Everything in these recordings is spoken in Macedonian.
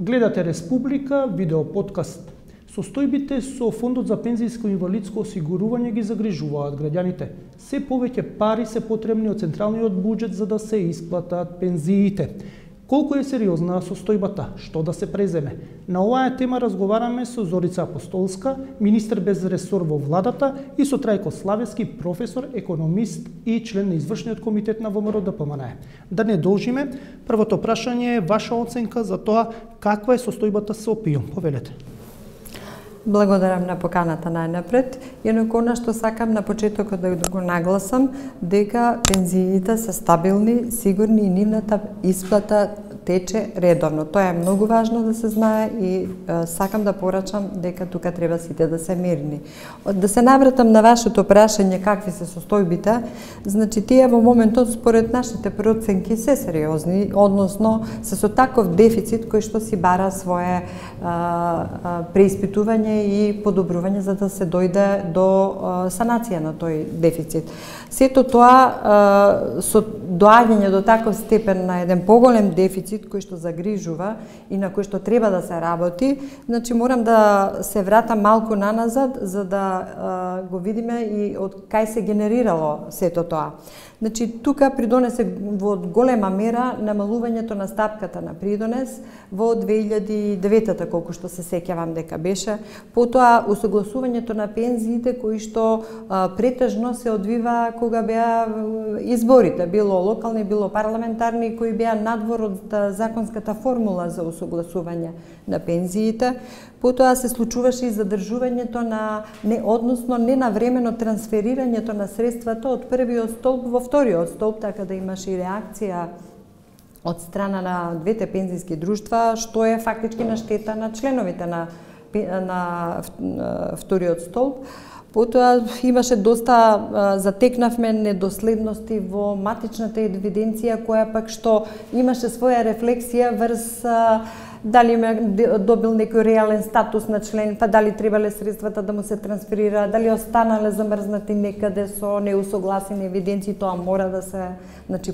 Гледате Республика, видео подкаст. Состојбите со Фондот за пензијско и инвалидско осигурување ги загрижуваат граѓаните. Се повеќе пари се потребни од централниот буџет за да се исплатат пензиите. Колку е сериозна состојбата? Што да се преземе? На оваа тема разговараме со Зорица Апостолска, министер без ресор во владата, и со Трајко Славевски, професор, економист и член на извршниот комитет на ВМРО-ДПМН. Да не должиме, првото прашање е ваша оценка за тоа каква е состојбата со ПИО. Повелете. Благодарам на поканата најнапред. Инаку она што сакам на почетокот да го нагласам дека пензиите се стабилни, сигурни и нивната исплата тече редовно. Тоа е многу важно да се знае и сакам да порачам дека тука треба сите да се мирни. Да се навратам на вашето прашање какви се состојбите, значи тие во моментот според нашите проценки се сериозни, односно се со таков дефицит кој што си бара свое преиспитување и подобрување за да се дојде до санација на тој дефицит. Сето тоа со доаѓање до таков степен на еден поголем дефицит кој што загрижува и на кој што треба да се работи, значи морам да се вратам малку наназад за да го видиме и од кај се генерирало сето тоа. Значи, тука придонесе во голема мера намалувањето на стапката на придонес во 2009-та, колку што се сеќавам дека беше, потоа усогласувањето на пензиите кои што претежно се одвива кога беа изборите, било локални, било парламентарни, кои беа надвор од законската формула за усогласување на пензиите. Потоа се случуваше и задржувањето на односно ненавремено трансферирањето на средствата од првиот столб во вториот столб, така да имаше и реакција од страна на двете пензијски друштва, што е фактички на штета на членовите на вториот столб. Потоа имаше доста, затекнавме недоследности во матичната евиденција, која пак што имаше своја рефлексија врз дали добил некој реален статус на член, па дали требале средствата да му се трансферира, дали останале замрзнати некаде со неусогласени евиденции, тоа мора да се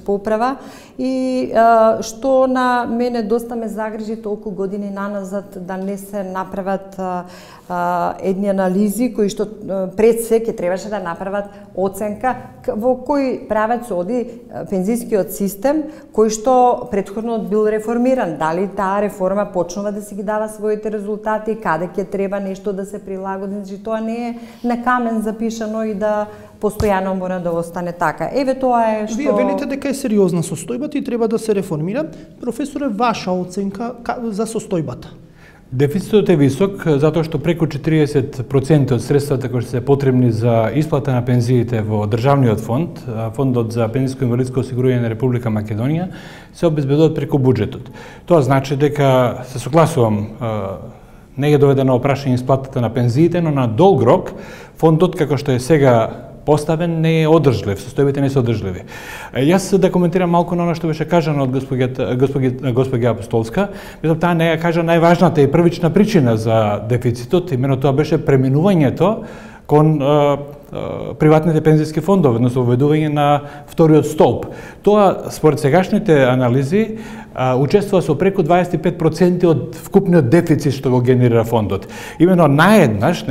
поправа. И што на мене доста ме загрижи толку години наназад да не се направат едни анализи кои што пред се ќе требаше да направат оценка во кој правец оди пензијскиот систем кој што претходно бил реформиран, дали таа реформа почнува да си ги дава своите резултати, каде ќе треба нешто да се прилагоди, значи тоа не е на камен запишано и да постојано мора да остане така. Еве тоа е што... Вие велите дека е сериозна состојбата и треба да се реформира. Професоре, ваша оценка за состојбата? Дефицитот е висок, затоа што преку 40% од средствата кои се потребни за исплата на пензиите во државниот фонд, Фондот за пензијско и инвалидско осигурување на Република Македонија, се обезбедуваат преку буџетот. Тоа значи дека се согласувам, не е доведено опрашање исплатата на пензиите, но на долг рок фондот како што е сега поставен не е одржлив, состојбите не се одржливи. Јас да коментирам малку на оно што беше кажано од госпоѓа Апостолска. Мислам, таа не ја кажа најважната и првична причина за дефицитот, имено тоа беше преминувањето кон приватните пензијски фондови, односно воведување на вториот столб. Тоа, според сегашните анализи, учествува со преку 25% од вкупниот дефицит што го генерира фондот. Имено наеднаш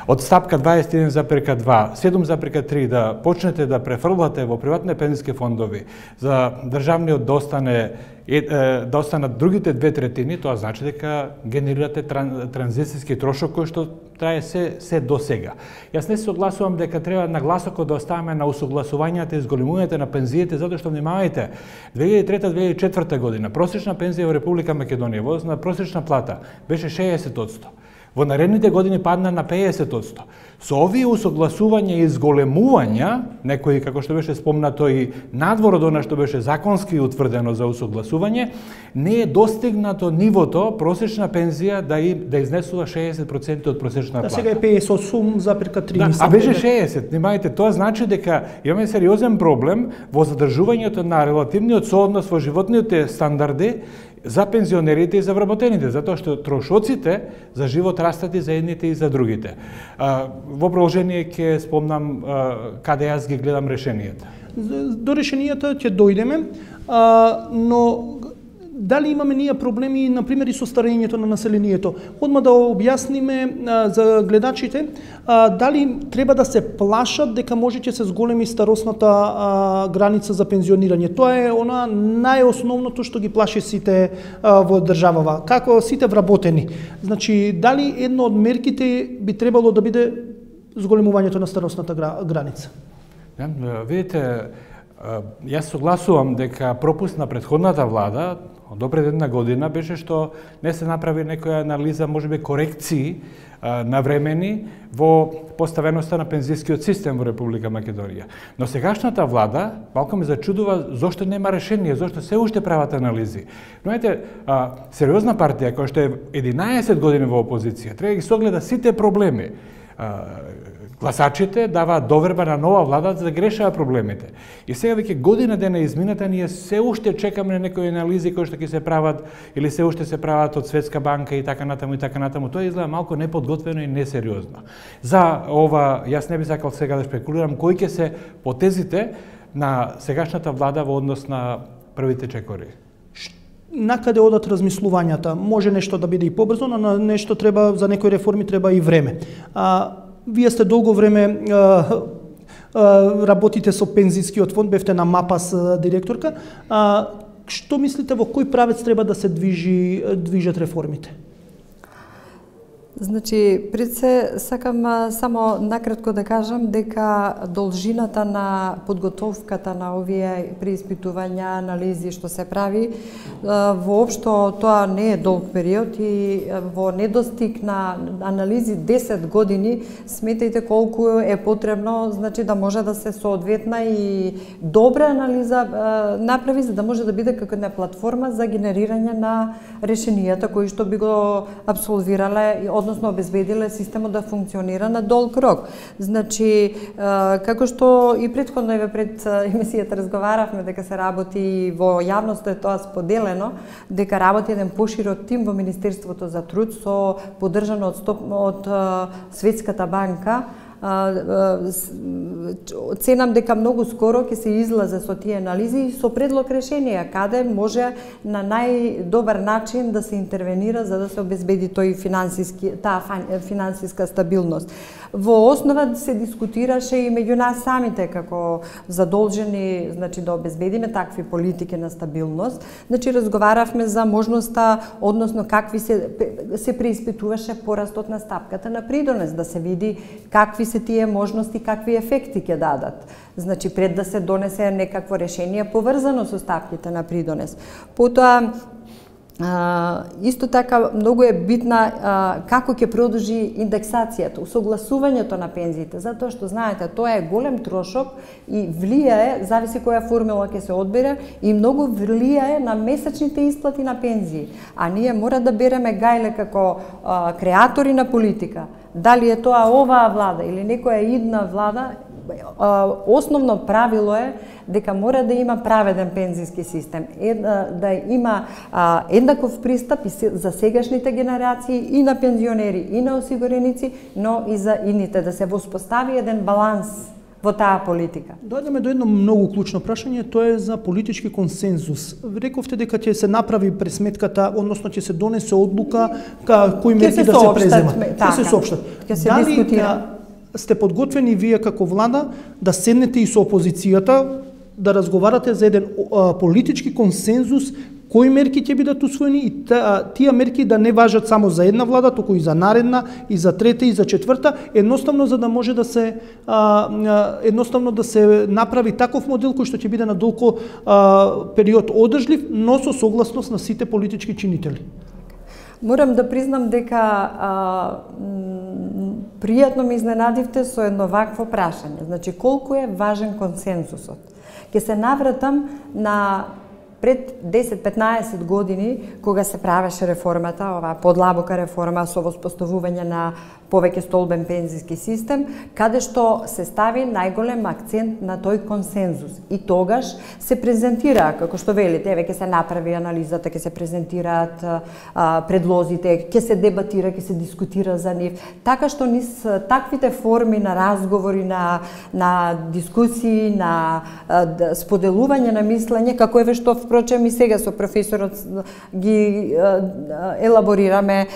од стапка 21,2, 7,3 да почнете да префрлате во приватните пензијски фондови за државниот да останат другите 2/3, тоа значи дека генерирате транзицијски трошок кој што трае се до сега. Јас не се согласувам дека треба нагласокот да оставаме на усогласувањата и зголемувањето на пензиите, затоа што внимавајте, 2003-2004 година просечна пензија во Република Македонија во однос на просечна плата беше 60%. Во наредните години падна на 50%. Со овие усогласувања и зголемувања, некои, како што беше спомнато, и надвор од она што беше законски утврдено за усогласување, не е достигнато нивото просечна пензија да изнесува 60% од просечна плата. Сега е 58,3. А беше 60. Внимајте, тоа значи дека имаме сериозен проблем во задржувањето на релативниот сооднос во животните стандарди за пензионерите и за вработените, затоа што трошоците за живот растат и за едните и за другите. Во продолжение ќе спомнам каде јас ги гледам решенијата. До решенијата ќе дојдеме, но Дали имаме ние проблеми, например, и со старењето на населението? Одма да објасниме за гледачите, дали треба да се плашат дека може ќе се зголеми старосната граница за пензионирање? Тоа е она најосновното што ги плаши сите во државава, како сите вработени. Значи, дали едно од мерките би требало да биде зголемувањето на старосната граница? Видите, јас согласувам дека пропуст на претходната влада до пред една година беше што не се направи некоја анализа, можеби корекции навремени во поставеноста на пензискиот систем во Република Македонија. Но сегашната влада малку ме зачудува зошто нема решение, зошто се уште прават анализи. Но ете, сериозна партија која што е 11 години во опозиција, треба да ги согледа сите проблеми. Гласачите даваат доверба на нова влада за да ги решава проблемите. И сега веќе година дена измината, ние се уште чекаме на некои анализи кои што ќе се прават или се уште се прават од Светска банка и така натаму и така натаму. Тоа изгледа малку неподготвено и несериозно. За ова јас не би сакал сега да шпекулирам кои ќе се потезите на сегашната влада во однос на првите чекори. Накаде одат размислувањата? Може нешто да биде и побрзо, но на нешто треба, за некои реформи треба и време. Вие сте долго време работите со пензискиот фонд, бевте на МАПАС директорка. Што мислите, во кој правец треба да се движат реформите? Значи, пред се сакам само накратко да кажам дека должината на подготовката на овие преиспитувања, анализи што се прави, воопшто тоа не е долг период и во недостиг на анализи 10 години, сметајте колку е потребно, значи да може да се соодветна и добра анализа направи, за да може да биде како една платформа за генерирање на решенијата кои што би го абсолвирале, односно обезбедиле системот да функционира на долг рок. Значи, како што и претходно пред емисијата разговаравме дека се работи во јавноста, е тоа споделено, дека работи еден поширок тим во Министерството за труд со поддржано од Светската банка. Ценам дека многу скоро ќе се излезе со тие анализи со предлог решенија каде може на најдобар начин да се интервенира за да се обезбеди таа финансиска стабилност. Во основа се дискутираше и меѓу нас самите како задолжени, значи да обезбедиме такви политики на стабилност. Значи разговаравме за можноста, односно какви се преиспитуваше порастот на стапката на придонес, да се види какви се тие можности, какви ефекти ќе дадат. Значи пред да се донесе некакво решение поврзано со стапките на придонес. Потоа исто така многу е битна како ќе продолжи индексацијата, усогласувањето на пензиите, затоа што знаете тоа е голем трошок и влијае, зависи која формула ќе се одбере, и многу влијае на месечните исплати на пензии. А ние мора да береме гајле како креатори на политика. Дали е тоа оваа влада или некоја идна влада, основно правило е дека мора да има праведен пензиски систем, да има еднаков пристап и за сегашните генерации и на пензионери и на осигуреници, но и за идните, да се воспостави еден баланс во таа политика. Дојдеме до едно многу клучно прашање, тоа е за политички консензус. Рековте дека ќе се направи пресметката, односно ќе се донесе одлука кои мерки да се преземат. Ќе се соопштат. Ќе се дискутира. Сте подготвени вие како влада да седнете и со опозицијата, да разговарате за еден политички консензус, кои мерки ќе бидат усвоени и тие мерки да не важат само за една влада, туку и за наредна, и за трета, и за четврта, едноставно за да може да се направи таков модел кој што ќе биде на долго период одржлив, но со согласност на сите политички чинители. Морам да признам дека пријатно ме изненадивте со едно вакво прашање. Значи, колку е важен консензусот? Ке се навратам на пред 10-15 години, кога се правеше реформата, оваа подлабока реформа со воспоставување на повеќе столбен пензиски систем, каде што се стави најголем акцент на тој консензус. И тогаш се презентира, како што велите, еве ќе се направи анализата, ќе се презентираат предлозите, ќе се дебатира, ќе се дискутира за нив. Така што низ таквите форми на разговори, на дискусии, на споделување на мислење, како еве што впрочем и сега со професорот ги елаборираме,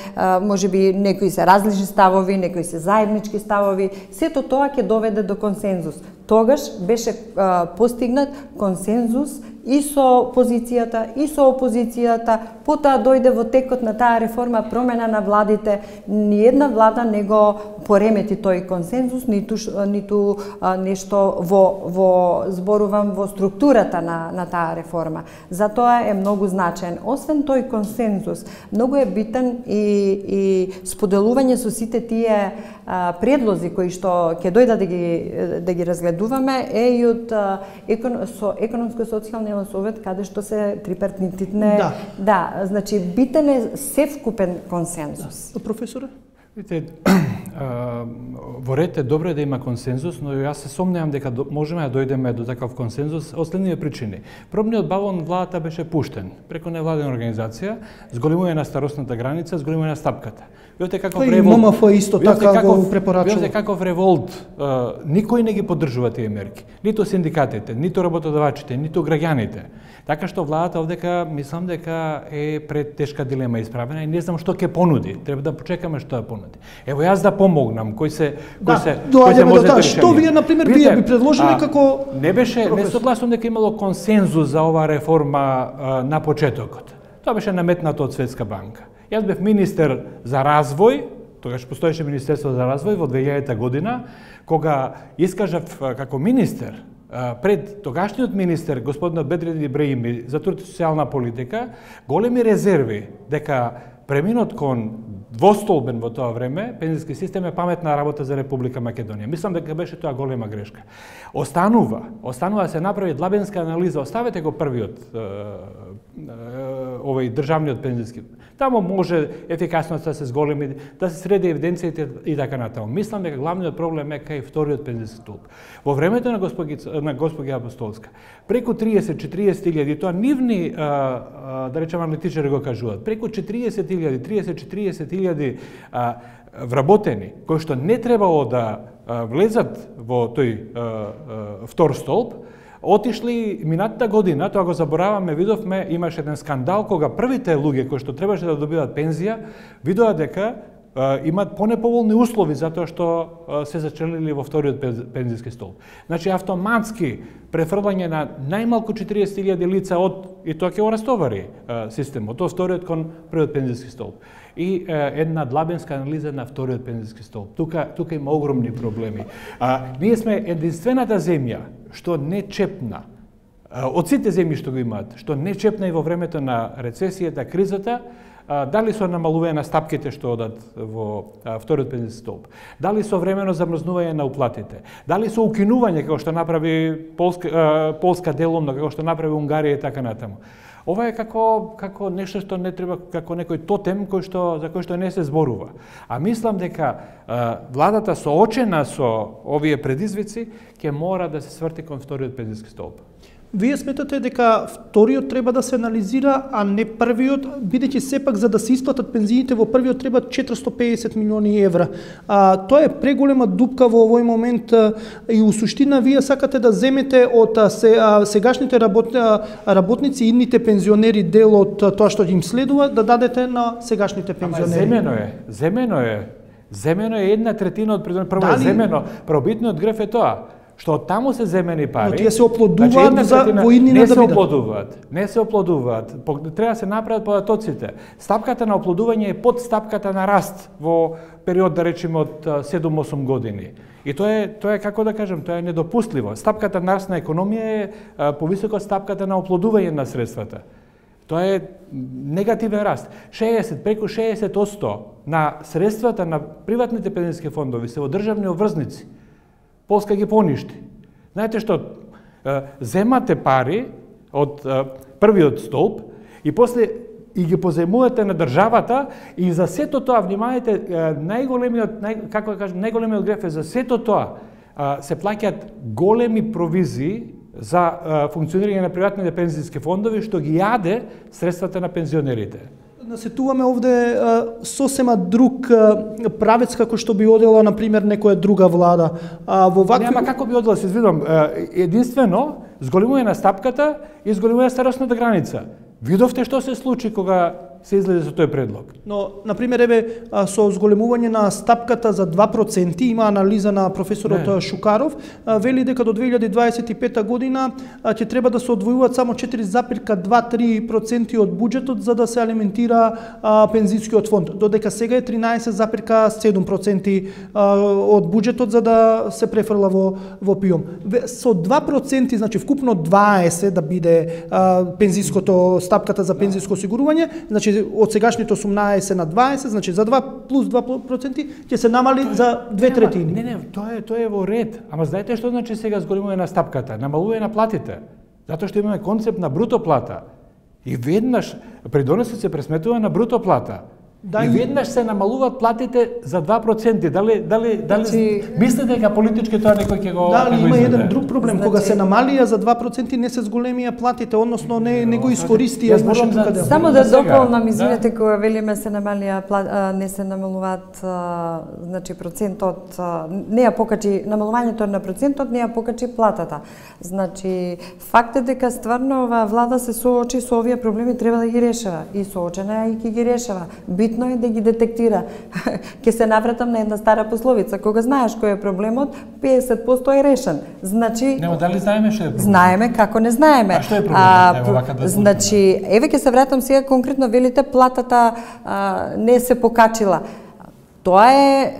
можеби некои се различни ставови, некои се заеднички ставови, сето тоа ќе доведе до консензус. Тогаш беше постигнат консензус и со позицијата, и со опозицијата, потоа дојде во текот на таа реформа промена на владите, ни една влада не го поремети тој консензус, ниту нешто во зборувам во структурата на таа реформа. Затоа е многу значаен. Освен тој консензус, многу е битен и споделување со сите тие предлози кои што ќе дојдат да ги разгледуваме е и од со економско-социјалниот совет, каде што се трипартитне. Да, значи битен е севкупен консензус. Професоре? Видите, во ред е добро да има консензус, но јас се сомневам дека можеме да дојдеме до таков консензус од следниве причини. Пробниот балон владата беше пуштен преку невладена организација, зголемување на старосната граница, зголемување на стапката. Видите каков револт. ММФ исто така го препорачува. Видите каков револт. Никој не ги поддржува тие мерки. Ниту синдикатите, ниту работодавачите, ниту граѓаните. Така што владата овдека мислам дека е пред тешка дилема исправена и не знам што ќе понуди. Треба да почекаме што да понуди. Ево јас да помогнам кој се може да реши. Што вие на пример би предложиле како не согласувам дека имало консензус за оваа реформа на почетокот. Тоа беше наметнато од Светска банка. Јас бев министер за развој, тогаш постоеше Министерство за развој во 2000 година, кога искажав како министер пред тогашниот министер, господинот Бедредин Ибраими, за труд и социјална политика, големи резерви дека преминот кон двостолбен во тоа време пензиски систем е паметна работа за Република Македонија. Мислам дека беше тоа голема грешка. Останува да се направи длабенска анализа, оставете го првиот овој државниот пензиски. Тамо може ефикасноста да се зголеми, да се среди евиденциите и така натаму. Мислам дека главниот проблем е кај вториот пензиски столб. Во времето на госпоѓа Апостолска, преку 30-40 тоа нивни, да речеме, аналитичари го кажуваат, преку 30-40 вработени, кои што не требало да влезат во тој втор столб, отишли минатата година, тоа го забораваме, видовме, имаше еден скандал кога првите луѓе кои што требаше да добиваат пензија, видоа дека имаат понеповолни услови затоа што се зачелили во вториот пензиски столб. Значи автоматски префрлање на најмалку 40.000 лица и тоа ќе го растовари системот, од вториот кон првиот пензиски столб. И една длабенска анализа на вториот пензиски столб. Тука има огромни проблеми. Ние сме единствената земја што не чепна, од сите земји што го имаат, што не чепна и во времето на рецесијата, кризата, дали со намалување на стапките што одат во вториот пензиски столб, дали со времено замрзнување на уплатите, дали со укинување како што направи Полска деломно, како што направи Унгарија и така натаму. Ова е како нешто што не треба, како некој тотем за кој што не се зборува. А мислам дека владата соочена со овие предизвици ќе мора да се сврти кон вториот пензиски столб. Вие сметате дека вториот треба да се анализира, а не првиот, бидејќи сепак за да се исплатат пензиите во првиот треба 450 милиони евра. Тоа е преголема дупка во овој момент и у суштина вие сакате да земете од сегашните работници и идните пензионери дел од тоа што им следува, да дадете на сегашните пензионери. Земено е 1/3 од прво земено, пробитниот греф е тоа што таму се земени пари. Но тие се оплодуваат за воиднина да бидат. Не се оплодуваат. Треба да се направат податоците. Стапката на оплодување е под стапката на раст во период, да речеме, од 7-8 години. И тоа е како да кажем, тоа е недопустливо. Стапката на раст на економија е повисока од стапката на оплодување на средствата. Тоа е негативен раст. Преку 60% на средствата на приватните пензиски фондови се во државни обврзници. Полска ги поништи. Знаете што, земате пари од првиот столб и после и ги позајмувате на државата и за сето тоа, внимавајте, најголемиот греф е за сето тоа се плаќаат големи провизии за функционирање на приватните пензиски фондови што ги јаде средствата на пензионерите. Насетуваме овде сосема друг правец како што би одела, например, некоја друга влада. Во вакви... Нема како би одела, се извинувам, единствено зголемување на стапката и зголемување старосната граница. Видовте што се случи кога се излезе со тој предлог. Но, например, со зголемување на стапката за 2%, има анализа на професорот Шукаров, вели дека до 2025 година ќе треба да се одвојуваат само 4,2-3% од буџетот за да се алиментира пензискиот фонд, додека сега е 13,7% од буџетот за да се префрла во ПИОМ. Со 2%, значи вкупно 20 да биде стапката за пензиско осигурување, значи од сегашните 18 на 20, значи за 2 плюс 2% ќе се намали за 2/3. Не, тоа е во ред. Ама знаете што значи сега зголемување на стапката? Намалување на платите. Затоа што имаме концепт на бруто плата. И веднаш придонесот се пресметува на бруто плата. И веднаш се намалуваат платите за 2%. Дали мислите дека политички тоа некој ќе го изгледа? Има еден друг проблем. Кога се намалија за 2%, не се зголемија платите, односно не го искористија нашето каде. Само да дополнам, извинете, кога велиме се намалија, не се намалуваат, значи процентот, не ја покачи, намалувањето на процентот не ја покачи платата. Значи, факт е дека стварно оваа влада се соочи со овие проблеми, треба да ги решава. И соочена и ќе ги решава. Битно е да ги детектира. Ке се навратам на една стара пословица. Кога знаеш кој е проблемот, 50% е решен. Значи... Нема, дали знаеме што е проблем? Знаеме, како не знаеме. А што е проблемот? Значи, еве ке се вратам сега конкретно, велите платата не се покачила. Тоа е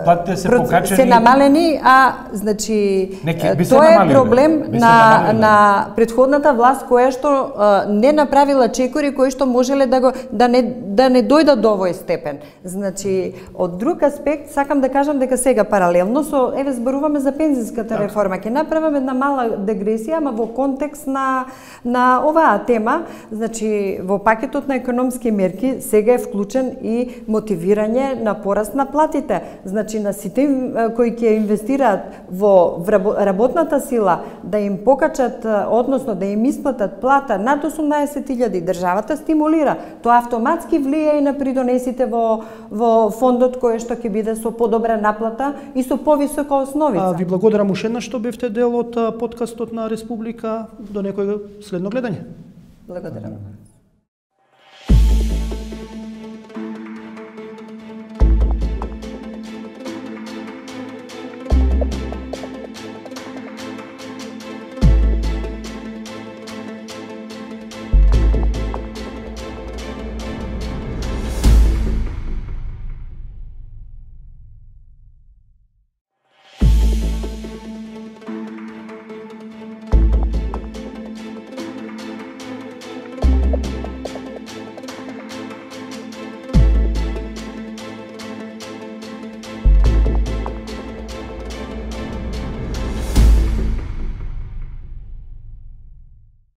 платите се покачени. Се намалени, значи тоа е проблем на претходната власт која што не направила чекори кои што можеле да не дојдат до овој степен. Значи, од друг аспект сакам да кажам дека сега паралелно со зборуваме за пензиската реформа, ќе направиме една мала дегресија, ама во контекст на оваа тема, значи во пакетот на економски мерки сега е вклучен и мотивирање на пораст на платите. Значи, на сите кои ќе инвестираат во работната сила, да им покачат, односно да им исплатат плата над 18.000, државата стимулира. Тоа автоматски влие и на придонесите во фондот кој што ќе биде со подобра наплата и со повисока основица. Ви благодарам уште еднаш што бевте дел од подкастот на Република. До некој следно гледање. Благодарам.